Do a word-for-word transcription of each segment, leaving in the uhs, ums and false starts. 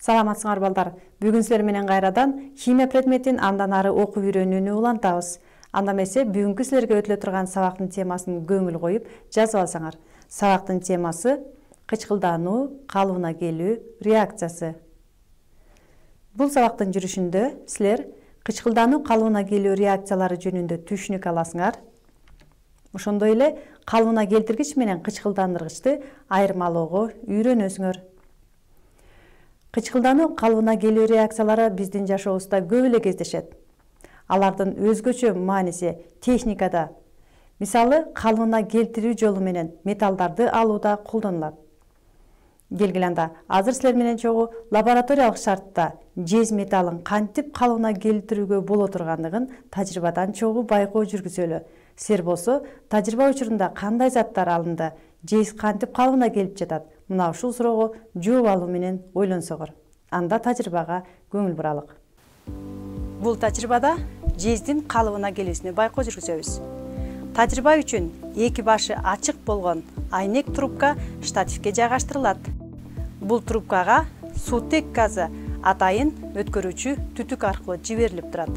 Саламатсыңар балдар. Бүгүн силер менен кайрадан химия предметин андан ары окуп үйрөнүүнү улантабыз. Анда эмесе бүгүнкү силерге өтүлө турган сабактын темасын көңүл коюп жазып алсаңар. Сабактын темасы кычкылдануу, калыбына келүү реакциясы. Бул сабактын жүрүшүндө силер кычкылдануу, калыбына келүү реакциялары жөнүндө түшүнүк аласыңар. Ошондой эле калыбына келтиргич менен кычкылдандыргычты айырмалоого үйрөнөсүңөр. Кычкылдануу, калыбына келүү реакциялары биздин жашообузда көп эле кездешет. Алардын өзгөчө мааниси техникада, мисалы, калыбына келтирүү жолу менен металлдарды алууда колдонулат. Келгиле анда, азыр силер менен чогуу лабораториялык шартта жез металлын кантип калыбына келтирүүгө боло тургандыгын тажрыйбадан чогуу байкоо жүргүзөлү. Силер болсо, тажрыйба учурунда кандай заттар алынды, жез кантип калыбына келип жатат? Мына ушул суроого жооп алуу менен ойлонсоңор. Анда тажрыйбага көңүл буралык. Бул тажрыйбада жездин калыбына келүүсүнө байкоо жүргүзөбүз. Тажрыйба үчүн эки башы ачык болгон айнек трубка штативке жайгаштырылат. Бул трубкага суутек газы атайын өткөрүүчү түтүк аркылуу жиберилип турат.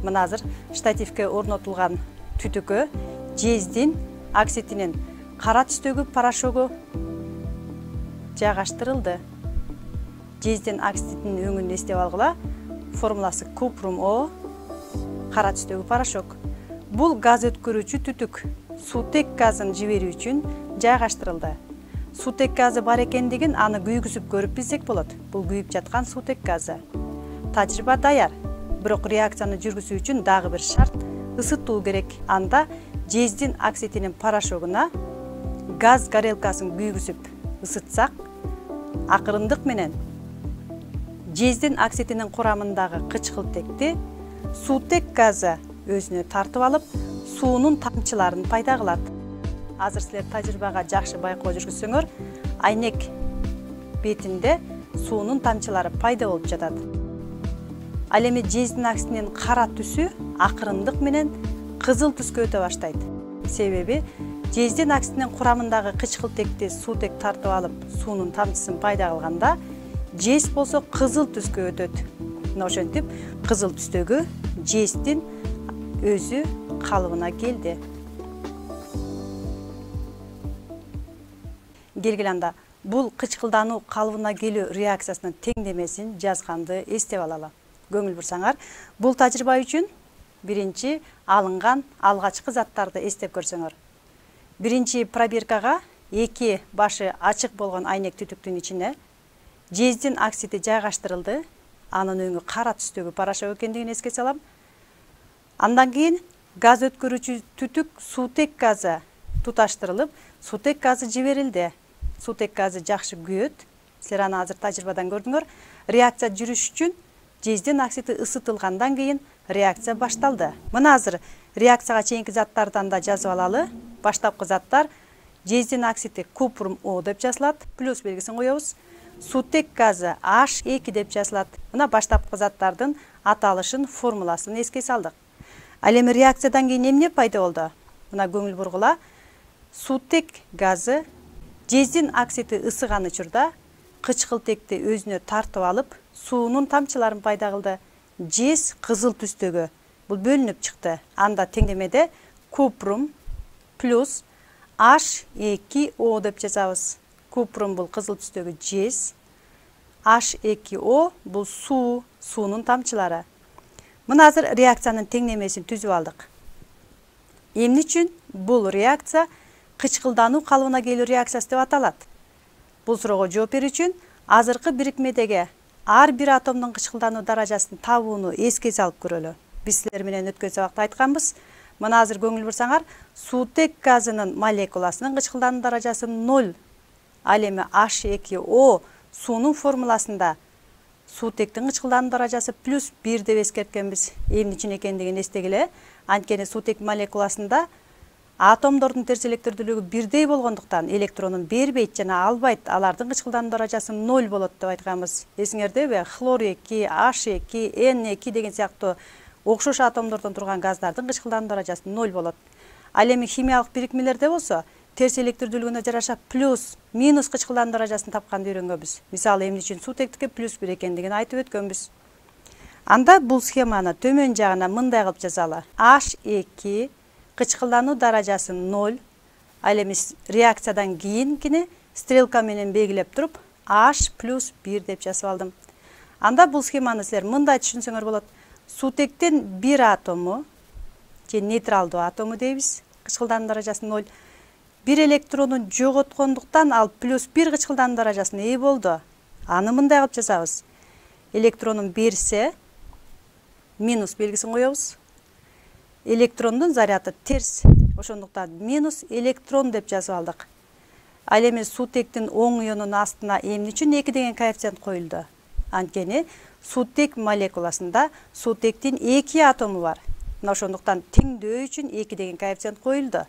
Мына азыр штативке орнотулган түтүккө жездин оксидинин кара түстөгү порошогу жайгаштырылды. Жездин оксидинин өңүн эстеп алгыла. Формуласы купрум О, кара түстөгү порошок. Бул газ өткөрүүчү түтүк суутек газын жиберүү үчүн жайгаштырылды. Суутек газы бар экендигин аны күйгүзүп көрүп билсек болот. Бул күйүп жаткан суутек газы. Тажрыйба даяр. Бирок реакцияны жүргүзүү үчүн дагы бир шарт ысытуу керек. Анда жездин оксидинин порошогуна газ горелкасын күйгүзүп ысытсак, акырындык менен жездин оксидинин курамындагы кычкылтекти суутек газы өзүнө тартып алып, суунун тамчыларын пайда кылат. Азыр силер тажрыйбага жакшы байкоо жүргүзсөңөр, айнек бетинде суунун тамчылары пайда болуп жатат. Ал эми жездин оксидинин кара түсү акырындык менен кызыл түскө өтө баштайт. Себеби жездин оксидинин курамындагы кычкылтекти суутек тартып алып, суунун тамчысын пайда кылганда, жез болсо кызыл түскө өтөт. Мына ошентип кызыл түстөгү жездин өзү калыбына келди. Келгиле анда, бул кычкылдануу, калыбына келүү реакциясынын теңдемесин жазганды эстеп алалы. Көңүл бурсаңар, бул тажрыйба үчүн биринчи алынган алгачкы заттарды эстеп көрсөңөр. Биринчи пробиркага эки башы ачык болгон айнек түтүктүн ичине жездин оксиди жайгаштырылды. Анын өңү кара түстөгү порошок экендигин эске салам. Андан кийин газ өткөрүүчү түтүк суутек газы туташтырылып, суутек газы жиберилди. Суутек газы жакшы күйөт. Силер аны азыр тажрыйбадан көрдүңөр. Реакция жүрүш үчүн жездин оксиди ысытылгандан кийин реакция башталды. Мына азыр реакцияга чейинки заттардан да жазып алалы. Баштапкы заттар жездин оксиди купрум О деп жазылат, плюс белгисин коебуз. Суутек газы H эки деп жазылат. Мына баштапкы заттардын аталышын, формуласын эске салдык. Ал эми реакциядан кийин эмне пайда болду? Мына көңүл бургула. Суутек газы жездин оксиди ысыган учурда кычкылтекти өзүнө тартып алып, суунун тамчыларын пайда кылды. Жез кызыл түстөгү бул бөлүнүп чыкты. Анда теңдемеде купрум плюс H эки О деп жазабыз. Купрум бул кызыл түстөгү жез, H эки О бул суу, суунун тамчылары. Мына азыр реакциянын теңдемесин түзүп алдык. Эмне үчүн бул реакция кычкылдануу, калыбына келүү реакциясы деп аталат? Бул суроого жооп берүү үчүн азыркы бирикмедеги ар бир атомдун кычкылдануу даражасын табууну эске салып көрөлү. Биз силер менен өткөн сабакта айтканбыз. Мына азыр көңүл бурсаңар, суутек газынын молекуласынын кычкылдануу даражасы ноль. Ал эми H эки О суунун формуласында суутектин кычкылдануу даражасы плюс бир деп эскерткенбиз. Эмне үчүн экендигин эстегиле. Анткени суутек молекуласында атомдордун терс электирдүүлүгү бирдей болгондуктан электронун бербейт жана албайт. Алардын кычкылдануу даражасы ноль болот деп айтканбыз. Эсиңердеби? Хлор эки, H эки, N эки деген сыяктуу окшош атомдордон турган газдардын кычкылдануу даражасы ноль болот. Ал эми химиялык бирикмелерде болсо терс электрдүүлүгүнө жараша плюс, минус кычкылдануу даражасын тапканды үйрөнгөнбүз. Мисалы эмне үчүн суутектикке плюс бир экендигин айтып өткөнбүз. Анда бул схеманы төмөн жагына мындай кылып жазалы. H эки кычкылдануу даражасы ноль. Ал эми реакциядан кийинкини стрелка менен белгилеп туруп H плюс бир деп жазып алдым. Анда бул схеманы силер мындай түшүнсөңөр болот. Суутектин бир атому же нейтралдуу атому дейбиз. Кычкылдануу даражасы ноль. Бир электронун жоготкондуктан ал плюс бир кычкылдануу даражасына ээ болду. Аны мындай кылып жазабыз. Электронун берсе минус белгисин коебуз. Электрондун заряды терс. Ошондуктан минус электрон деп жазып алдык. Ал эми суутектин оң ионунун астына эмне үчүн эки деген коэффициент коюлду? Анткени суутек молекуласында суутектин эки атому бар. Мына ошондуктан теңдөө үчүн эки деген коэффициент коюлду.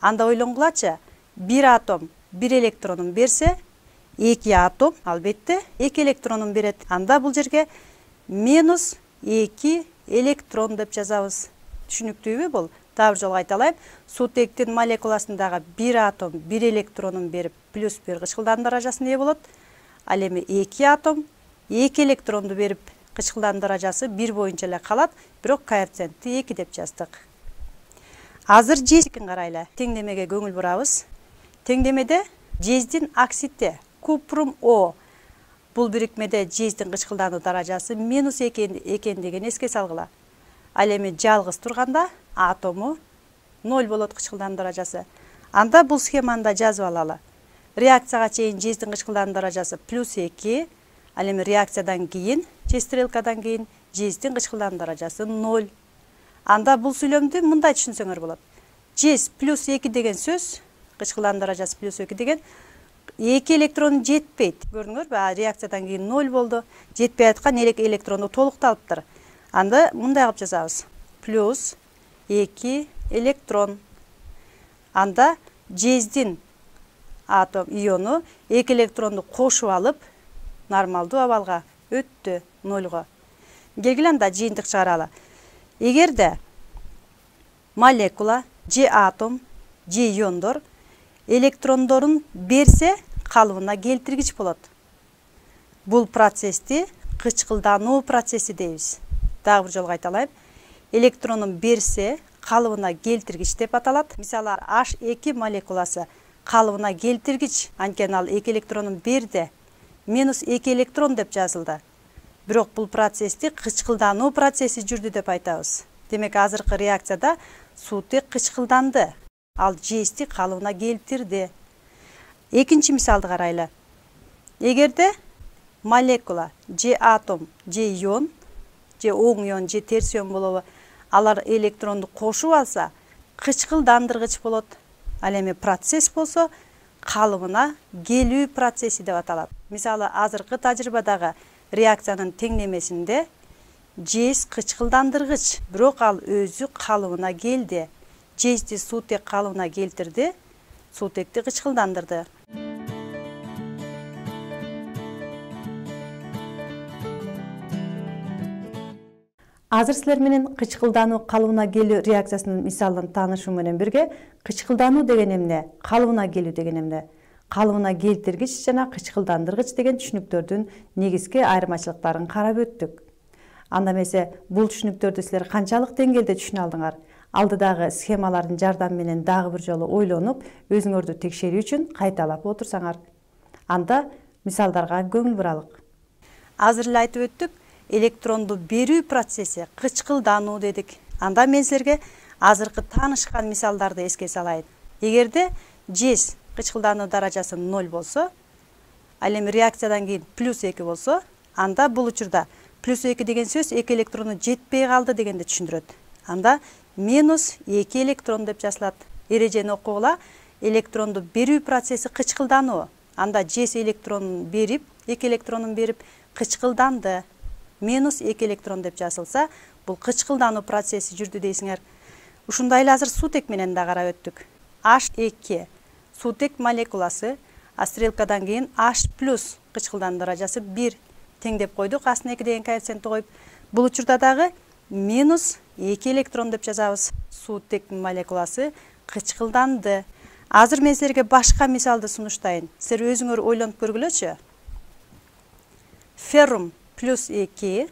Анда ойлонгулачы, бир атом бир электронун берсе, эки атом албетте эки электронун берет. Анда бул жерге минус эки электрон деп жазабыз. Түшүнүктүүбү бул? Дагы бир жолу айталайын. Суутектин молекуласындагы бир атом бир электронун берип плюс бир кычкылдануу даражасына ээ болот. Ал эми эки атом эки электронду берип кычкылдануу даражасы бир боюнча эле калат, бирок коэффициентти эки деп жаздык. Азыр жездикин карайлы. Теңдемеге көңүл бурабыз. Теңдемеде жездин оксиди купрум О. Бул бирикмеде жездин кычкылдануу даражасы минус экендигин эске салгыла. Ал эми жалгыз турганда атому ноль болот кычкылдануу даражасы. Анда бул схеманы жазып алалы. Реакцияга чейин жездин кычкылдануу даражасы плюс эки. Ал эми реакциядан кийин, же стрелкадан кийин жездин кычкылдануу даражасы ноль. Анда бул сүйлөмдү мындай түшүнсөңөр болот. Жез плюс эки деген сөз, кычкылдануу даражасы плюс эки деген эки электрон жетпейт. Көрдүңөрбү? Реакциядан кийин ноль болду. Жетпей аткан электронду толукталыптыр. Анда мындай кылып жазабыз. Плюс эки электрон. Анда жездин атом иону эки электронду кошуп алып, нормалдуу абалга өттү, нольго. Келгиле анда жыйынтык чыгаралы. Эгерде молекула же атом же иондор электрондорун берсе, калыбына келтиргич болот. Бул процессти кычкылдануу процесси дейбиз. Дагы бир жолу айталайын. Электронун берсе, калыбына келтиргич деп аталат. Мисалы, H эки молекуласы калыбына келтиргич, анткени ал эки электронун берди. Минус эки электрон деп жазылды. Бирок бул процессти кычкылдануу процесси жүрдү деп айтабыз. Демек, азыркы реакцияда суутек кычкылданды. Ал жезди калыбына келтирди. Экинчи мисалды карайлы. Эгерде молекула же атом же ион, же оң ион же терс ион болобу, алар электронду кошуп алса, кычкылдандыргыч болот. Ал эми процесс болсо, калыбына келүү процесси деп аталат. Мисалы, азыркы тажрыйбадагы реакциянын теңдемесинде жез кычкылдандыргыч, бирок ал өзү калыбына келди. Жезди суутек калыбына келтирди, суутекти кычкылдандырды. Азыр силер менен кычкылдануу калыбына келүү реакциясынын мисалын таанышуу менен бирге кычкылдануу деген эмне, калыбына келүү деген эмне, калыбына келтиргич жана кычкылдандыргыч деген түшүнүктөрдүн негизги айырмачылыктарын карап өттүк. Анда эмесе бул түшүнүктөрдү силер канчалык деңгээлде түшүнө алдыңар? Алдыдагы схемалардын жардамы менен дагы бир жолу ойлонуп, өзүңөрдү текшерүү үчүн кайталап отурсаңар. Анда мисалдарга көңүл буралык. Азыр эле айтып өттүк, электронду берүү процесси кычкылдануу дедик. Анда мен силерге азыркы таанышкан мисалдарды эске салайын. Эгерде жез кычкылдануу даражасы ноль болсо, ал эми реакциядан кийин плюс эки болсо, анда бул учурда плюс эки деген сөз эки электрону жетпей калды дегенди түшүндүрөт. Анда минус эки электрон деп жазылат. Эрежени окугула. Электронду берүү процесси кычкылдануу. Анда жез электронун берип, эки электронун берип кычкылданды. Минус эки электрон деп жазылса, бул кычкылдануу процесси жүрдү дейсиңер. Ушундай эле азыр суутек менен да карап өттүк. H эки суутек молекуласы, а стрелкадан кийин H плюс кычкылдануу даражасы бир теңдеп койдук, астына эки деген коэффициентти коюп. Бул учурда дагы минус эки электрон деп жазабыз. Суутек молекуласы кычкылданды. Азыр мен силерге башка мисалды сунуштайын. Силер өзүңөр ойлонуп көргүлөчү. Феррум плюс эки,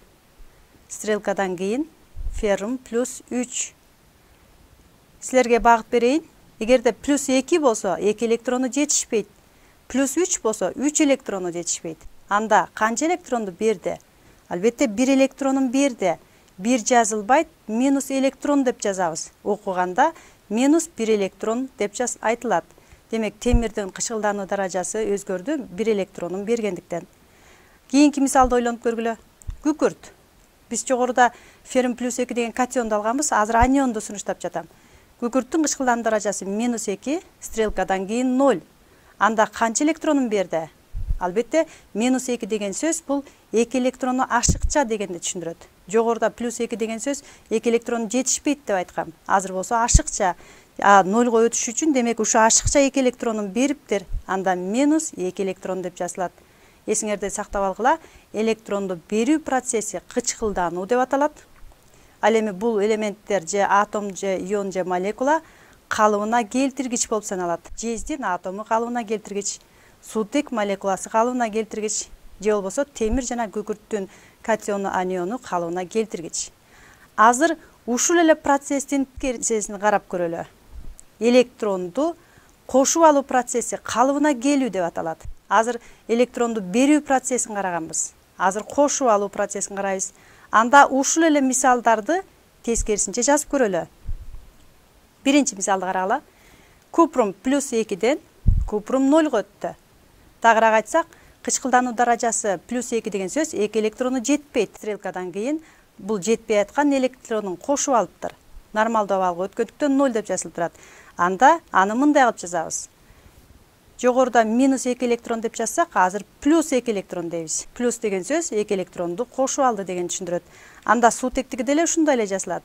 стрелкадан кийин феррум плюс үч. Силерге багыт берейин. Эгерде плюс эки болсо, эки электрону жетишпейт. Плюс үч болсо, үч электрону жетишпейт. Анда канча электронду берди? Албетте бир электронун берди. бир жазылбайт, минус электрон деп жазабыз. Окуганда минус бир электрон деп жаз айтылат. Демек, темирдин кычкылдануу даражасы өзгөрдү бир электронун бергендиктен. Кийинки мисалды ойлонуп көргүлө. Күкүрт. Биз жогоруда феррум плюс эки деген катионду алганбыз, азыр анионду сунуштап жатам. Күкүрттүн кычкылдануу даражасы минус эки, стрелкадан кийин ноль. Анда канча электронун берди? Албетте, минус эки деген сөз бул эки электрону ашыкча дегенди түшүндүрөт. Жогоруда плюс эки деген сөз эки электрон жетишпейт деп айткам. Азыр болсо ашыкча. А нольго өтүш үчүн демек ушу ашыкча эки электронун бериптир. Анда минус эки электрон деп жазылат. Эсиңерде сактап алгыла, электронду берүү процесси кычкылдануу деп аталат. Ал эми бул элементтер же атом же ион же молекула калыбына келтиргич болуп саналат. Жездин атому калыбына келтиргич, суутек молекуласы калыбына келтиргич, же болбосо темир жана күкүрттүн катиону аниону калыбына келтиргич. Азыр ушул эле процесстин терсесин карап көрөлү. Электронду кошуп алуу процесси калыбына келүү деп аталат. Азыр электронду берүү процессин караганбыз. Азыр кошуп алуу процессин карайбыз. Анда ушул эле мисалдарды тескерисинче жазып көрөлү. Биринчи мисалды карагыла. Купрум плюс экиден купрум нольго өттү. Тагыраак айтсак, кычкылдануу даражасы плюс эки деген сөз эки электрону жетпейт. Стрелкадан кийин бул жетпей аткан электронун кошуп алыптыр. Нормалдуу абалга өткөндүктөн ноль деп жазылып турат. Анда аны мындай кылып жазабыз. Жогоруда минус эки электрон деп жазсак, азыр плюс эки электрон дейбиз. Плюс деген сөз эки электронду кошуп алды деген түшүндүрөт. Анда суутектиги деле ушундай эле жазылат.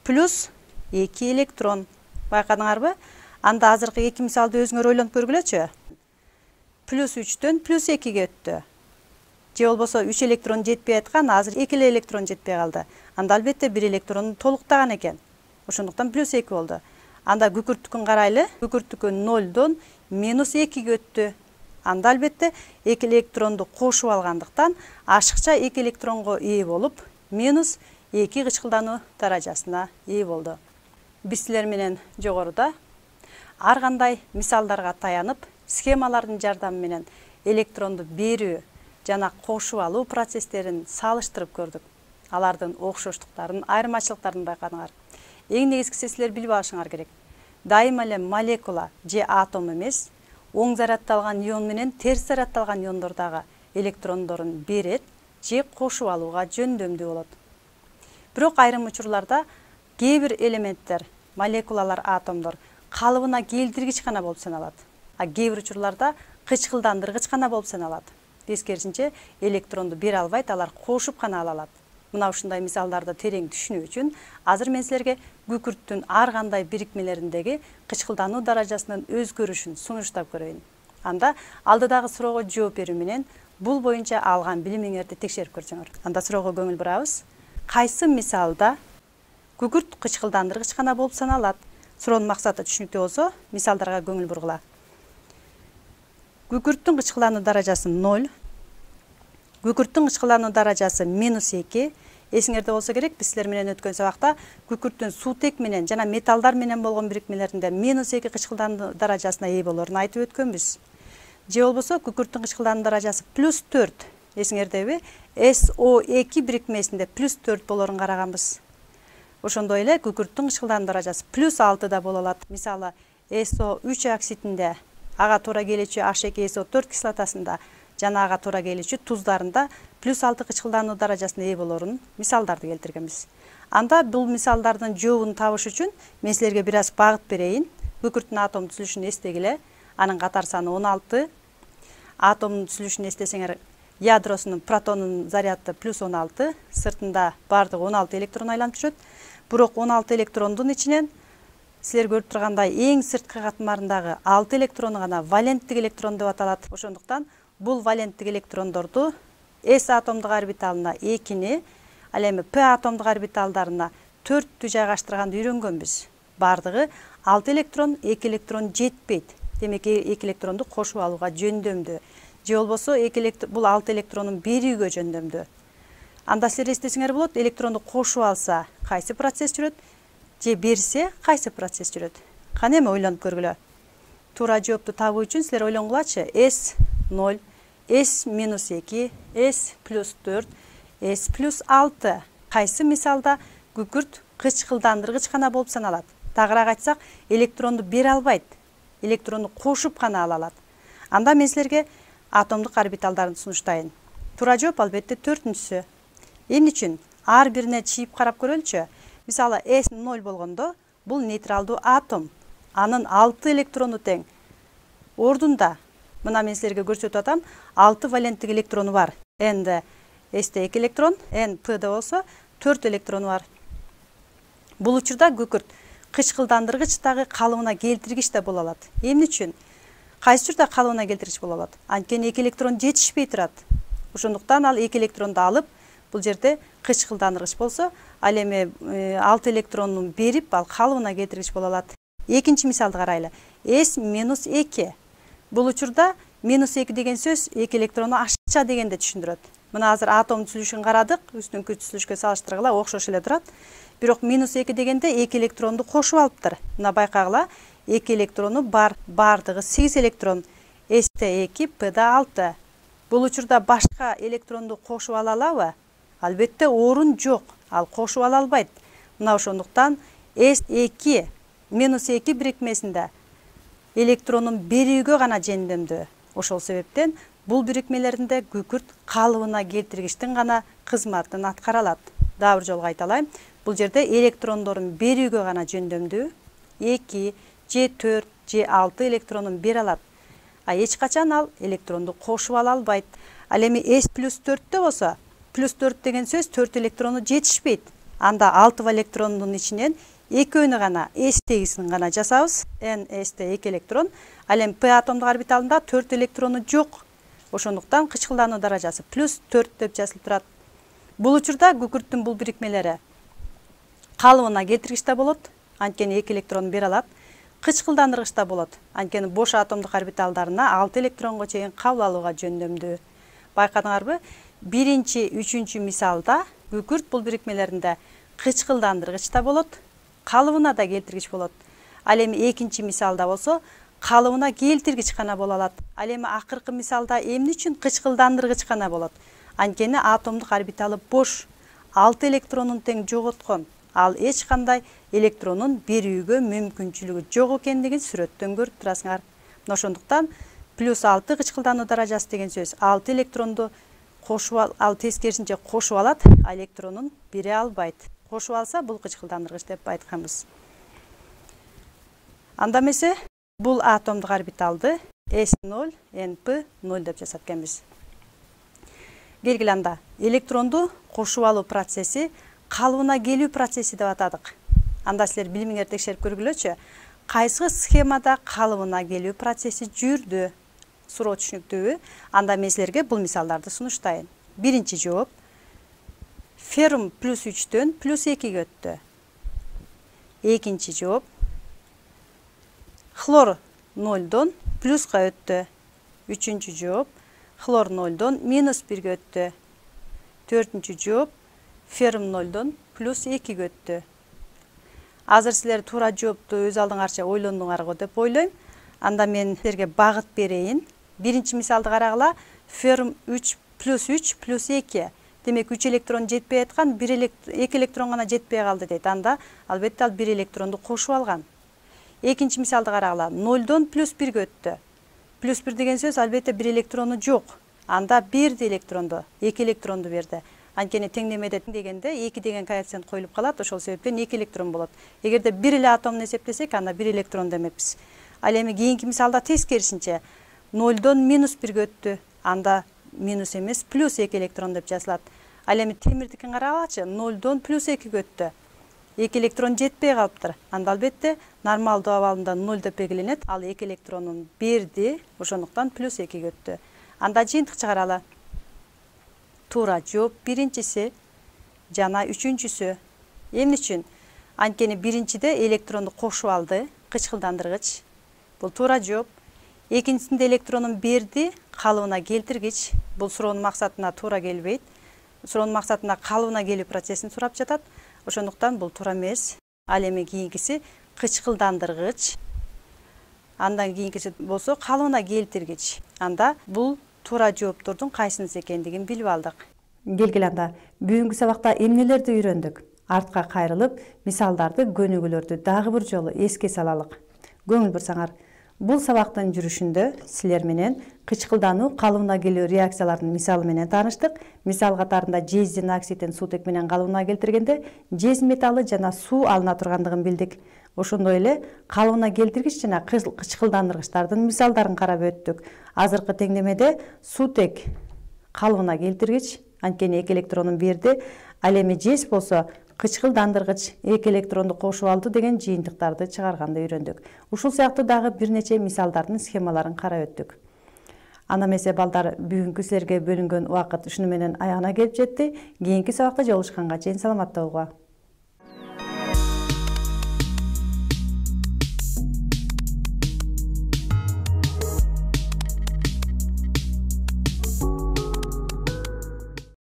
Плюс эки электрон. Байкадыңарбы? Анда азыркы эки мисалды өзүңөр ойлонуп көргүлөчү. Плюс үчтөн плюс экиге өттү. Же болбосо үч электрон жетпей аткан, азыр эки электрон жетпей калды. Анда албетте бир электрону толуктаган экен. Ошондуктан плюс эки болду. Анда күкүрттүкүн карайлы. Күкүрттүкү нольдон минус экиге өттү. Анда албетте эки электронду кошуп алгандыктан ашыкча эки электронго ээ болуп, минус эки кычкылдануу даражасына ээ болду. Биз силер менен жогоруда ар кандай мисалдарга таянып, схемалардын жардамы менен электронду берүү жана кошуп алуу процесстерин салыштырып көрдүк. Алардын окшоштуктарын, айырмачылыктарын байкадыңар. Эң негизгиси силер билип алышыңар керек. Дайыма эле молекула же атом эмес, оң зарядталган ион менен терс зарядталган иондордогу электрондорун берет же кошуп алууга жөндөмдүү болот. Бирок айрым учурларда кээ бир элементтер, молекулалар, атомдор калыбына келтиргич гана болуп саналат. А кээ бир учурларда кычкылдандыргыч гана болуп саналат. Тескерисинче электронду бере албайт, алар кошуп гана ала алат. Мына ушундай мисалдарды терең түшүнүү үчүн азыр мен силерге күкүрттүн ар кандай бирикмелериндеги кычкылдануу даражасынын өзгөрүшүн сунуштап көрөйүн. Анда алдыдагы суроого жооп берүү менен бул боюнча алган билимиңерди текшерип көрсөңөр. Анда суроого көңүл бурабыз. Кайсы мисалда күкүрт кычкылдандыргыч гана болуп саналат? Суроонун максаты түшүнүктүү болсо, мисалдарга көңүл бургула. Күкүрттүн кычкылдануу даражасы ноль. Күкүрттүн кычкылдануу даражасы минус эки. Эсиңерде болсо керек, биз силер менен өткөн сабакта күкүрттүн суутек менен жана металлдар менен болгон бирикмелеринде минус эки кычкылдануу даражасына ээ болорун айтып өткөнбүз. Же болбосо күкүрттүн кычкылдануу даражасы плюс төрт. Эсиңердеби? эс о эки бирикмесинде плюс төрт болорун караганбыз. Ошондой эле күкүрттүн кычкылдануу даражасы плюс алтыда боло алат. Мисалы, эс о үч оксидинде, ага туура келүүчү эйч эки эс о төрт кислотасында жана ага туура келүүчү туздарында плюс алты кычкылдануу даражасына ээ болорун мисалдарды келтиргенбиз. Анда бул мисалдардын жообун табыш үчүн мен силерге бир аз багыт берейин. Күкүрттүн атом түзүлүшүн эстегиле. Анын катар саны он алты. Атомдун түзүлүшүн эстесеңер, ядросунун протонунун заряды плюс он алты, сыртында бардыгы он алты электрон айланып жүрөт. Бирок он алты электрондун ичинен силер көрүп тургандай эң сырткы катмарындагы алты электрону гана валенттик электрон деп аталат. Ошондуктан бул валенттик электрондорду S атомдук орбиталына экини, ал эми P атомдук орбиталдарына төрттү жайгаштырганды үйрөнгөнбүз. бардыгы алты электрон, эки электрон жетпейт. Демек эки электронду кошуп алууга жөндөмдүү. Же болбосо эки электрон бул алты электронун берүүгө жөндөмдүү. Анда силер эстесиңер болот, электронду кошуп алса кайсы процесс жүрөт, же берсе кайсы процесс жүрөт. Кана эми ойлонуп көргүлө. Туура жоопту табуу үчүн силер ойлонгулачы. эс ноль, эс минус эки, эс плюс төрт, эс плюс алты кайсы мисалда күкүрт кычкылдандыргыч гана болуп саналат. Тагыраак айтсак, электронду бере албайт, электронду кошуп гана ала алат. Анда мен силерге атомдук орбиталдарын сунуштайын. Туура жооп албетте төртүнчүсү. Эмне үчүн? Ар бирине чийип карап көрөлүчү. Мисалы, эс ноль болгондо бул нейтралдуу атом. Анын алты электрону тең. Ордунда мына мен силерге көрсөтүп атам, алты валенттик электрону бар. Энде эсте эки электрон, эн пда болсо төрт электрону бар. Бул учурда күкүрт кычкылдандыргычтагы калыбына келтиргич да боло алат. Эмне үчүн? Кайсы учурда калыбына келтиргич боло алат? Анткени эки электрон жетишпей турат. Ошондуктан ал эки электронду алып, бул жерде кычкылдандыргыч болсо, ал эми алты электронун берип, ал калыбына келтиргич боло алат. Экинчи мисалды карайлы. эс минус эки. Бул учурда минус эки деген сөз эки электрону ашыкча дегенди түшүндүрөт. Мына азыр атом түзүлүшүн карадык, үстүнкү түзүлүшкө салыштыргыла окшош эле турат. Бирок минус эки дегенде эки электронду кошуп алыптыр. Мына байкагыла, эки электрону бар, бардыгы сегиз электрон. эсте эки, пда алты. Бул учурда башка электронду кошуп ала алабы? Албетте орун жок. Ал кошуп ала албайт. Мына ошондуктан эс эки минус эки бирикмесинде электронун берүүгө гана жөндөмдүү. Ошол себептен бул бирикмелеринде күкүрт калыбына келтиргичтин гана кызматын аткара алат. Дагы бир жолу кайталайм. Бул жерде электрондорун берүүгө гана жөндөмдүү. эки, же төрт, же алты электронун бере алат. А эч качан ал электронду кошуп ала албайт. Ал эми эс плюс төрттө болсо, плюс төрт деген сөз төрт электрону жетишпейт. Анда алты электрондун ичинен экөөнү гана, эс тегисин гана жасабыз. Н эсте эки электрон. Ал эми П атомдук орбиталында төрт электрону жок. Ошондуктан кычкылдануу даражасы плюс төрт деп жазылып турат. Бул учурда күкүрттүн бул бирикмелери калыбына келтиргич да болот, анткени эки электрон бере алат. Кычкылдандыргыч да болот, анткени бош атомдук орбиталдарына алты электронго чейин кабыл алууга жөндөмдүү. Байкадыңарбы? Биринчи, үчүнчү мисалда күкүрт бул бирикмелеринде кычкылдандыргыч да болот, калыбына да келтиргич болот. Ал эми экинчи мисалда болсо калыбына келтиргич гана боло алат. Ал эми акыркы мисалда эмне үчүн кычкылдандыргыч гана болот? Анткени атомдук орбиталы бош, алты электронун тең жоготкон. Ал эч кандай электронун берүүгө мүмкүнчүлүгү жок экендигин сүрөттөн көрүп турасыңар. Ошондуктан плюс алты кычкылдануу даражасы деген сөз алты электронду кошуп ал тескерисинче кошуп алат, а электронун бере албайт. Кошуп алса бул кычкылдандыргыч деп айтканбыз. Анда эмесе бул атомдук орбиталды эс ноль, эн пи ноль деп жасап экенбиз. Келгиле анда электронду кошуп алуу процесси калыбына келүү процесси деп атадык. Анда силер билимиңерди текшерип көргүлөчү. Кайсы схемада калыбына келүү процесси жүрдү? Суроо түшүнүктүүбү? Анда мен силерге бул мисалдарды сунуштайын. Биринчи жооп. Феррум плюс үчтөн плюс экиге өттү. Экинчи жооп. Хлор нолдон плюска өттү. Үчүнчү жооп. Хлор нолдон минус бирге өттү. Төртүнчү жооп. Феррум нолдон плюс экиге өттү. Азыр силер туура жоопту өз алдыңарча ойлондуңар го деп ойлойм. Анда мен силерге багыт берейин. Биринчи мисалды карагыла. Феррум үч плюс үч плюс эки. Демек үч электрон жетпей аткан, эки электрон гана жетпей калды дейт. Анда албетте ал бир электронду кошуп алган. Экинчи мисалды карагыла. нолдон плюс бирге өттү. Плюс бир деген сөз албетте бир электрону жок. Анда берди электронду, эки электронду берди. Анткени теңдемеде дегенде эки деген коэффициент коюлуп калат, ошол себептен эки электрон болот. Эгерде бир эле атомду эсептесек, анда бир электрон демекпиз. Ал эми кийинки мисалда тескерисинче нолдон минус бирге өттү. Анда минус эмес, плюс эки электрон деп жазылат. Ал эми темирдикин карагылачы, нолдон плюс экиге өттү. эки электрон жетпей калыптыр. Анда албетте нормалдуу абалында ноль деп белгиленет. Ал эки электронун берди, ошондуктан плюс экиге өттү. Анда жыйынтык чыгаралы. Туура жооп биринчиси жана үчүнчүсү. Эмне үчүн? Анткени биринчиде электронду кошуп алды, кычкылдандыргыч. Бул туура жооп. Экинчисинде электронун берди, калыбына келтиргич. Бул суроонун максатына туура келбейт. Суроонун максатына калыбына келүү процессин сурап жатат. Ошондуктан бул туура эмес. Ал эми кийинкиси кычкылдандыргыч. Андан кийинкиси болсо калыбына келтиргич. Анда бул туура жооптордун кайсынысы экендигин билип алдык. Келгиле анда бүгүнкү сабакта эмнелерди үйрөндүк? Артка кайрылып, мисалдарды, көнүгүүлөрдү дагы бир жолу эске салалык. Көңүл бурсаңар, бул сабактын жүрүшүндө силер менен кычкылдануу, калыбына келүү реакцияларынын мисалы менен тааныштык. Мисал катарында жездин оксидин суутек менен калыбына келтиргенде жез металлы жана суу алына тургандыгын билдик. Ошондой эле калыбына келтиргич жана кычкылдандыргычтардын мисалдарын карап өттүк. Азыркы теңдемеде суутек калыбына келтиргич, анткени эки электронун берди, ал эми жез болсо кычкылдандыргыч эки электронду кошуп алды деген жыйынтыктарды чыгарганды үйрөндүк. Ушул сыяктуу дагы бир нече мисалдардын схемаларын карап өттүк. Анда эмесе балдар, бүгүнкү силерге бөлүнгөн убакыт ушуну менен аягына келип жетти. Кийинки сабакта жолугушканга чейин саламатта болуңар.